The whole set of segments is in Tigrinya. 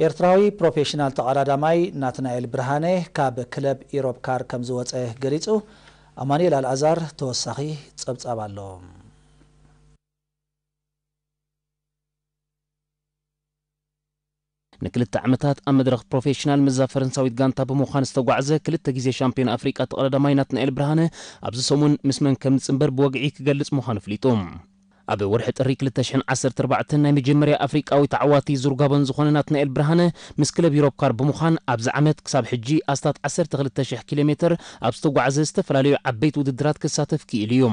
ኤርትራዊ ፕሮፌሽናል ተቐዳዳማይ ናትናኤል ብርሃነ ካብ ክለብ ኢሮብ ካር ከም ዝወጸ ገሊጹ። ኣማኑኤል ኣልኣዛር ተወሳኺ ጸብጻብ ኣሎ። ንክልተ ዓመታት ኣብ መድረኽ ፕሮፌሽናል ምስዛ ፈረንሳዊት ጋንታ ብምዃን ዝተጓዕዘ፣ ክልተ ግዜ ሻምፒዮን ኣፍሪቃ ተቐዳዳማይ ናትናኤል ብርሃነ ኣብዚ ሰሙን ምስ መን ከም ዝጽንበር ብወግዒ ክገልጽ ምዃኑ ኣፍሊጡ። ኣብ ወርሒ ጥሪ ክልተ ሽሕን ዓሰርተ ኣርባዕተን ናይ መጀመርያ ኣፍሪቃዊ ተዓዋቲ ዙር ጋቦን ዝኾነ ናትናኤል ብርሃነ፣ ምስ ክለብ ዩሮፕ ካር ብምዃን ኣብዚ ዓመት ክሳብ ሕጂ ኣስታት ዓሰርተ ክልተ ሽሕ ኪሎ ሜትር ኣብ ዝተጓዕዘ ዝተፈላለዩ ዓበይቲ ውድድራት ክሳተፍ ክኢሉ እዩ።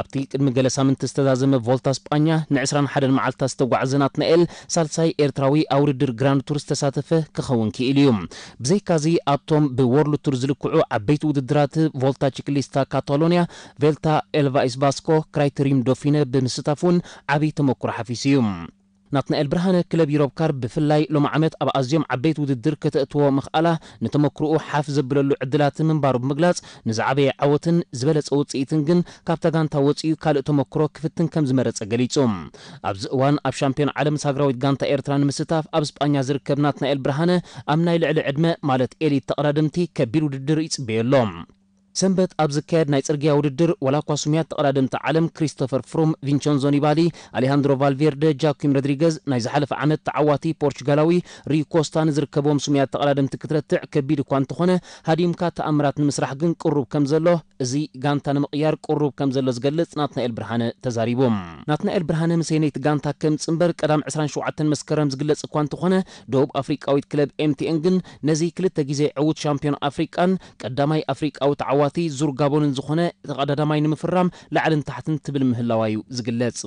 ኣብቲ ቅድሚ ገለ ሳምንቲ ዝተዛዘመ ቮልታ ስጳኛ ንዕስራን ሓደን መዓልታት ዝተጓዕዘ ናትናኤል፣ ሳልሳይ ኤርትራዊ ኣብ ውድድር ግራንድ ቱር ዝተሳተፈ ክኸውን ክኢሉ እዩ። ብዘይካዚ ኣብቶም ብወርልድ ቱር ዝልክዑ ዓበይቲ ውድድራት፣ ቮልታ ቺክሊስታ ካታሎንያ፣ ቬልታ ኤልቫይስ ባስኮ፣ ክራይተሪዩም ዶፊነ ብምስታፍ እውን ዓብዪ ተመኩሮ ሓፊሱ እዩ። ናትናኤል ብርሃነ ክለብ ዩሮፕ ካር ብፍላይ ሎሚ ዓመት ኣብ ኣዝዮም ዓበይቲ ውድድር ከተእትዎ ምኽኣላ ንተመክሮኡ ሓፍ ዘብለሉ ዕድላት ምንባሩ ብምግላጽ፣ ንዝዓበየ ዓወትን ዝበለጸ ውጽኢትን ግን ካብታ ጋንታ ወጺኡ ካልእ ተመክሮ ክፍትን ከም ዝመረጸ ገሊጹ። ኣብዚ እዋን ኣብ ሻምፒዮን ዓለም ሳግራዊት ጋንታ ኤርትራ ንምስታፍ ኣብ ስጳኛ ዝርከብ ናትናኤል ብርሃነ፣ ኣብ ናይ ልዕሊ ዕድመ ማለት ኤሊት ተቐዳደምቲ ከቢድ ውድድር ይጽበዮ ኣሎ። ሰንበት ኣብ ዝካየድ ናይ ጽርግያ ውድድር፣ ዋላ እኳ ስሙያት ተቐዳደምቲ ዓለም ክሪስቶፈር ፍሩም፣ ቪንቸንዞ ኒባሊ፣ ኣሌሃንድሮ ቫልቬርደ፣ ጃኪም ሮድሪገዝ፣ ናይ ዝሓለፈ ዓመት ተዓዋቲ ፖርቹጋላዊ ሪዩ ኮስታ ንዝርከቦም ስሙያት ተቐዳደምቲ ክትረትዕ ከቢድ እኳ እንተኾነ፣ ሃዲምካ ተኣምራት ንምስራሕ ግን ቅሩብ ከም ዘሎ፣ እዚ ጋንታ ንምቕያር ቅሩብ ከም ዘሎ ዝገልጽ ናትናኤል ብርሃነ ተዛሪቡ። ናትናኤል ብርሃነ ምስ የነይቲ ጋንታ ከም ጽንበር ቀዳም ዕስራን ሸውዓተን መስከረም ዝግለጽ እኳ እንተኾነ፣ ደቡብ ኣፍሪቃዊት ክለብ ኤምቲኤን ግን ነዚ ክልተ ግዜ ዕዉት ሻምፒዮን ኣፍሪቃን ቀዳማይ ኣፍሪቃዊ ተዓዋቲ ዙር ጋቦንን ዝኾነ ተቐዳዳማይ ንምፍራም ላዕልን ታሕትን ትብል ምህላዋ እዩ ዝግለጽ።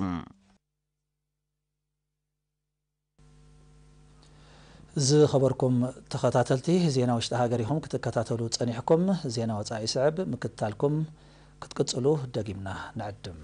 ዝኸበርኩም ተኸታተልቲ፣ ዜና ውሽጢ ሃገር ኢኹም ክትከታተሉ ጸኒሕኩም። ዜና ወጻኢ ይስዕብ፣ ምክትታልኩም ክትቅጽሉ ደጊምና ንዕድም።